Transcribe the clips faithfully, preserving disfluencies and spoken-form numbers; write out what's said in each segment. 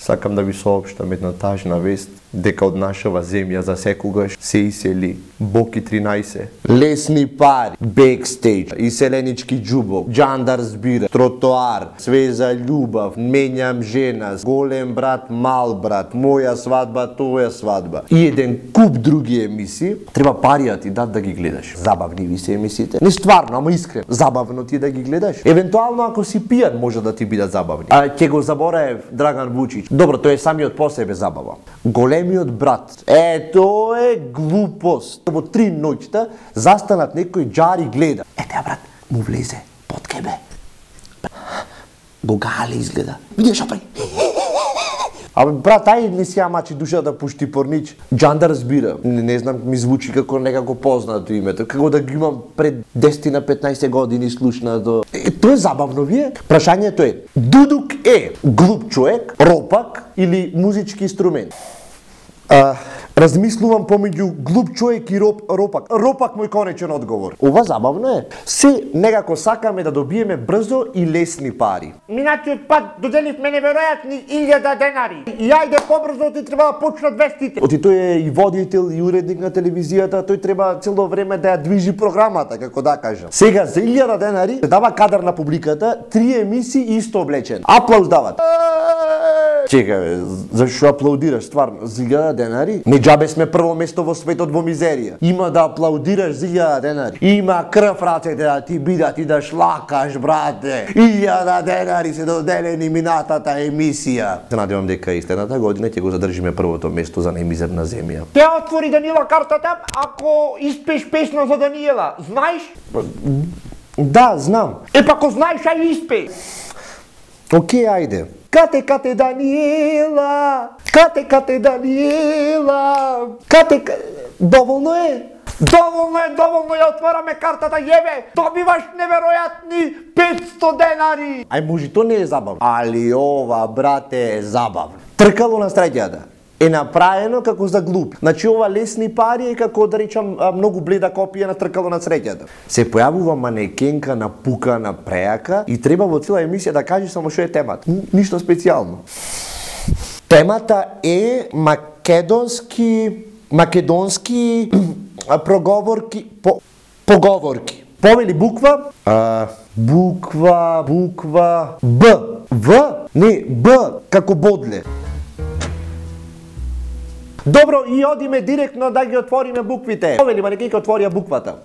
Сакам да ви соопштам една тажна вест, дека од нашава земја за секогаш се исели Боки тринаесет. Лесни пари, бекстејдж, иселенички џубок, Џандар збира, тротоар, свеза љубав, менјам жена, голем брат, мал брат, моја свадба, тоја свадба и еден куп други емисии. Треба парија ти дат да ги гледаш. Забавни ви се емисиите. Не стварно, ама искрено. Забавно ти да ги гледаш. Евентуално ако си пијан може да ти бидат забавни. А ќе го заборае Драган Вучич. Добро, тој е самиот по себе забава. Големиот брат. Е, тоа е глупост. Во три ноќта застанат некој џари гледа. Ете, брат, му влезе под кебе. Го гали изгледа. Види што прави. Абе, брат, ај не си амачи душа да пушти порнич. Џандар збира. Не, не знам, ми звучи како некако познато името. Како да ги имам пред десет на петнаесет години слушнато. Е, тоа е забавно вие. Прашањето е, Дудук е глуп човек, ропак или музички инструмент? А, размислувам помеѓу глуп човек и роп, ропак. Ропак мој конечен одговор. Ова забавно е. Се некако сакаме да добиеме брзо и лесни пари. Минатиот пат доделивме неверојатни илјада денари. И ајде побрзо ти треба да почнат вестите. Оти тој е и водител и уредник на телевизијата, тој треба цело време да ја движи програмата, како да кажам. Сега за илјада денари се дава кадар на публиката, три емисии исто облечен. Аплауз дават. Чекај, зашо аплаудираш стварно? За илјада денари? Не џабе сме прво место во светот во мизерија. Има да аплаудираш за илјада денари. Има крв рацете да ти бидат и да шлакаш, брате. илјада денари се доделени минатата емисија. Се надевам дека и следната година ќе го задржиме првото место за најмизерна земја. Те отвори Данила картата ако испееш песна за Даниела. Знаеш? Да, знам. Е, па ако знаеш, ај испеј. Океј, ајде. Кате, кате, Даниела! Кате, кате, Даниела! Кате, кате... Доволно е? Доволно е, доволно ја отвараме картата, јебе! Добиваш неверојатни петсто денари! Ај, може, то не е забавно. Али ова, брате, е забавно. Тркало на среќата е направено како за глуп. Значи ова лесни пари е како да речам многу бледа копија на тркало на среќата. Се појавува манекенка на пука на преака и треба во цела емисија да каже само што е темата. Ништо специјално. Темата е македонски македонски проговорки по, поговорки. Повели буква а, буква буква Б. В? Не, Б како бодле. Добро, и одиме директно да ги отвориме буквите. Повели манекенка отворија буквата.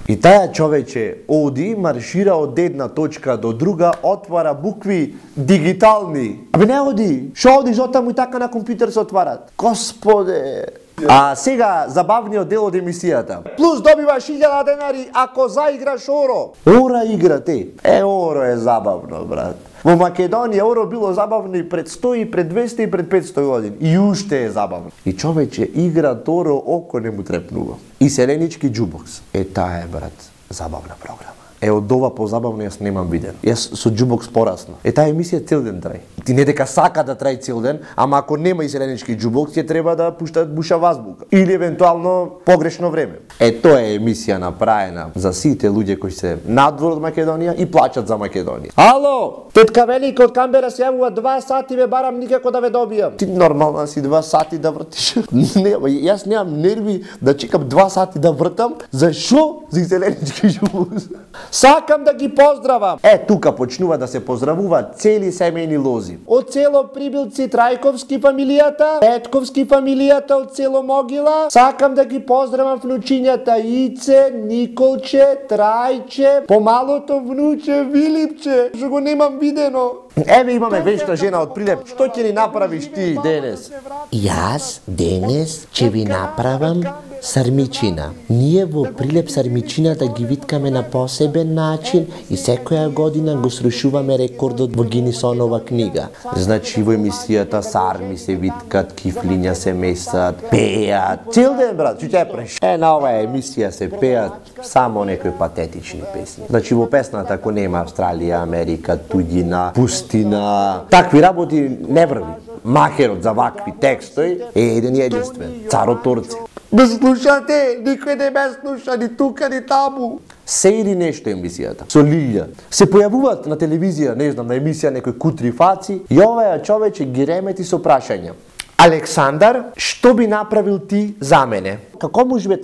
И таја човече оди, маршира од една точка до друга, отвара букви дигитални. Абе не оди, шо одиш оттаму и така на компјутер се отварат. Господе! А сега забавниот дел од емисијата. Плюс добиваш илјада денари ако заиграш оро. Ора игра те. Е, оро е забавно, брат. Во Македонија оро било забавно и пред сто, и пред двесте, и пред петсто години. И уште е забавно. И човече игра оро, око не му трепнува. И селенички џубокс. Е, таа е, брат, забавна програма. Е, од ова позабавно јас немам виден. Јас со џубокс порасно. Е, таа емисија цел ден трај. Ти не дека сака да трај цел ден, ама ако нема и селенички џубокс, ќе треба да пуштат буша вазбука. Или евентуално погрешно време. Е, тоа е емисија направена за сите луѓе кои се надвор од Македонија и плачат за Македонија. Ало, тетка Велика од Камбера се јавува два сати, ве барам никако да ве добијам. Ти нормално си два сати да вртиш. Не, јас немам нерви да чекам два сати да вртам. Зашо? За селенички џубокс. Сакам да ги поздравам. Е, тука почнува да се поздравуваат цели семејни лози. Од село Прибилци Трајковски фамилијата, Петковски фамилијата од село Могила. Сакам да ги поздравам внучињата Ице, Николче, Трајче, помалото внуче Вилипче, што го немам видено. Еве имаме вечна жена од Прилеп. Што ќе ни направиш ти денес? Јас денес ќе ви направам сармичина. Ние во Прилеп сармичината ги виткаме на посебен начин и секоја година го срушуваме рекордот во Гинисонова книга. Значи во емисијата сарми се виткат, кифлиња се месат, пеат. Цел ден, брат, што ќе преш? Е, на оваа емисија се пеат само некои патетични песни. Значи во песната ако нема Австралија, Америка, туѓина, пустина, такви работи не врви. Махерот за вакви текстови е еден и единствен, Царот Торце. Ме слушате, никој не ме слуша, ни тука, ни таму. Се или нешто емисијата. Со Лилја. Се појавуваат на телевизија, не знам, на емисија некои кутри фаци и овај човече ги ремети со прашања. Александар, што би направил ти за мене? Како може би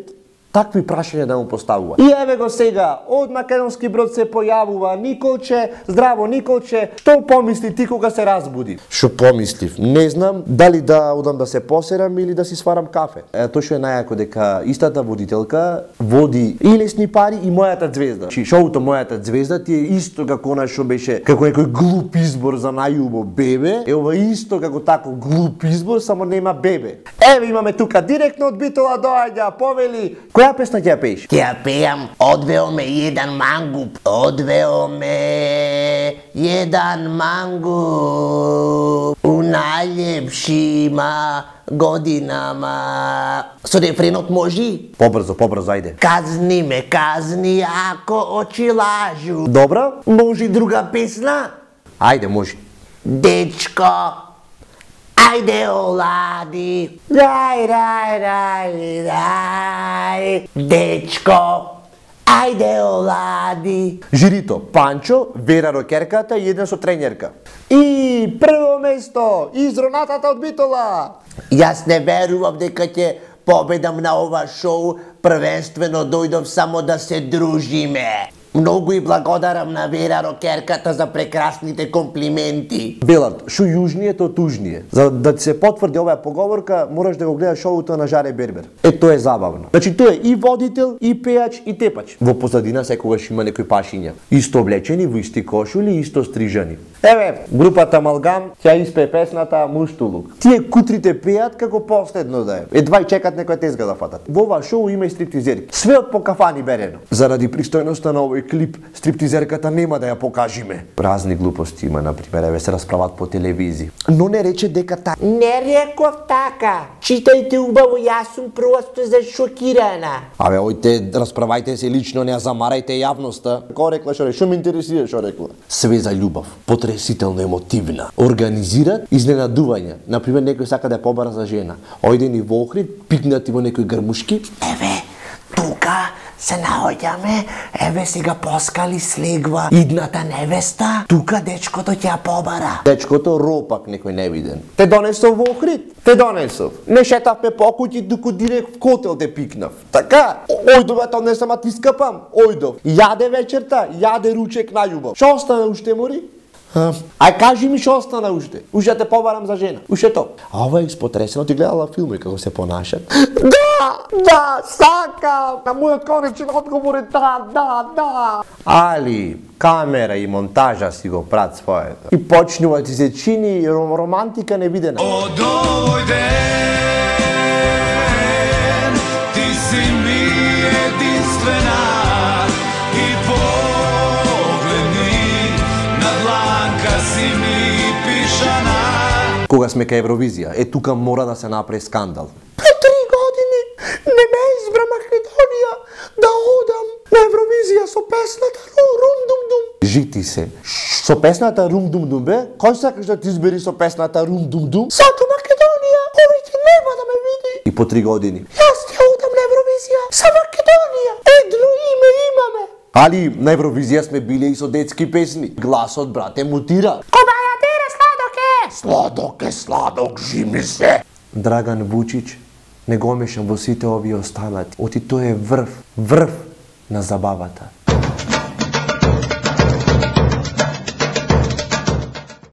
такви прашања да му поставува? И еве го сега, од Македонски Брод се појавува Николче, здраво Николче, што помисли ти кога се разбуди? Што помислив? Не знам дали да одам да се посерам или да си сварам кафе. Е, тоа што е најако дека истата водителка води и Лесни пари и Мојата звезда. Чи шоуто Мојата звезда ти е исто како она што беше како некој глуп избор за најубо бебе, е ова исто како тако глуп избор, само нема бебе. Еве имаме тука директно од Битола доаѓа, повели. Која песна ќе ја пееш? Ќе ја пеам Одвео ме еден мангуп. Одвео ме еден мангуп у најлепшима годинама. Со рефренот можи? Побрзо, побрзо, ајде. Казни ме, казни ако очи лажу. Добра? Може друга песна? Ајде, може. Дечко, ајде олади, рај, рај, рај, рај, дечко, ајде олади. Жирито, Панчо, Вера Рокерката и еден со тренерка. И прво место, изронатата од Битола. Јас не верував дека ќе победам на ова шоу, првенствено дојдов само да се дружиме. Многу и благодарам на Вера Рокерката за прекрасните комплименти. Белард, шо јужније, то тужније. За да ти се потврди оваа поговорка, мораш да го гледаш шоуто на Жаре Бербер. Е, тоа е забавно. Значи, тој е и водител, и пејач, и тепач. Во позадина секогаш има некои пашиња. Исто облечени, во исти кошули, исто стрижани. Еве, групата Малгам ќе испее песната Муштулук. Тие кутрите пеат како последно да е. Едва и чекат некоја тезга да фатат. Во ова шоу има и стриптизерки. Све од по кафани берено. Заради пристојноста на овој клип, стриптизерката нема да ја покажиме. Празни глупости има, например, еве се расправат по телевизија. Но не рече дека та... Не реков така. Читајте убаво, јас сум просто зашокирана. Абе, ојте, расправајте се лично, не ја замарајте јавноста. Ко рекла, шо рекла? Шо ме интересира, шо рекла? Све за љубов, потресително емотивна. Организираат изненадувања. Например, некој сака да ја побара за жена. Ојде ни во Охрид, пикнати во некој грмушки. Еве, тука се наоѓаме, еве сега поскали слегва идната невеста, тука дечкото ќе ја побара. Дечкото ропак некој невиден. Те донесов во Охрид, те донесов. Не шетавме по куќи, дуку директ в котел те пикнав. Така, ојдов, ето не сама ти скапам, ојдов. Јаде вечерта, јаде ручек на љубов. Шо остана уште, мори? Ај кажи ми што остана уште. Уште те побарам за жена. Уште то. А ова е испотресено, ти гледала филми како се понашат? Да, да, сакам. На мојот конечен одговор е да, да, да. Али, камера и монтажа си го прат своето. И почнува ти се чини романтика невидена. Од овој ден ти си ми единствена и погледни на дланка си ми пишана. Кога сме кај Евровизија, е тука мора да се направи скандал. По три години не ме избра Македонија да одам на Евровизија со песната Рум Дум Дум. Жити се. Со песната Рум Дум Дум бе? Кој сакаш да ти избери со песната Рум Дум Дум? Сато Македонија, овојте нема да ме види. И по три години. Јас ќе одам на Евровизија со Македонија. Едно име имаме. Али на Евровизија сме били и со детски песни. Гласот, брате, мутира. Кобаја тере сладок е. Сладок е, сладок, жими се. Драган Вучич, не го мешам во сите овие останати. Оти тој е врв, врв на забавата.